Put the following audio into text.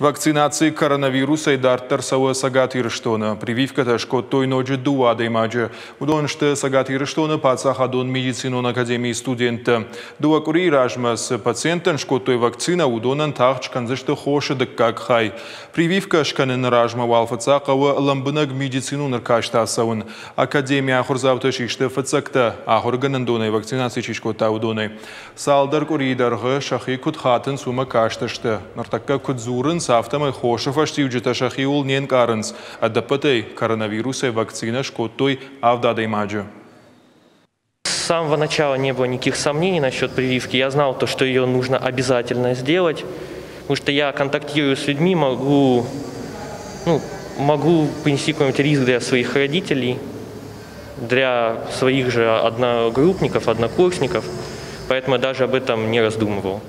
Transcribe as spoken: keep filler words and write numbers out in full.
Вакцинаци коронавирусӕй дарддӕр цӕуы Цӕгат Ирыстоны. Прививкӕтӕ скодтой ноджы дыууӕ адӕймаджы. Уыдон сты Цӕгат Ирыстоны паддзахадон медицинон академийы студенттӕ. Дыууӕ къуырийы размӕ цы пациенттӕн скодтой вакцинӕ, уыдонӕн тагъд скӕндзысты хосы дыккаг хай. Прививкӕ скӕныны размӕ уал фыццаг хъӕуы лӕмбынӕг медицинон ӕркаст ацӕуын. Академийы ахуырдзаутӕ систы фыццӕгтӕ, ахуыргӕнӕндонӕй вакцинаци чи скодта, уыдонӕй. Цалдӕр къуырийы дӕргъы сӕхи куыд хатынц, уымӕ кастысты. Ныртӕккӕ куыд дзурынц, афтӕмӕй хосы фӕстиуджытӕ сӕхиуыл не нкъарынц. Ӕдӕппӕтӕй коронавирусӕй вакцинӕ скодтой авд адӕймаджы. С самого начала не было никаких сомнений насчет прививки. Я знал то, что ее нужно обязательно сделать, потому что я контактирую с людьми, могу, ну, могу понести какой-нибудь риск для своих родителей, для своих же одногруппников, однокурсников, поэтому я даже об этом не раздумывал.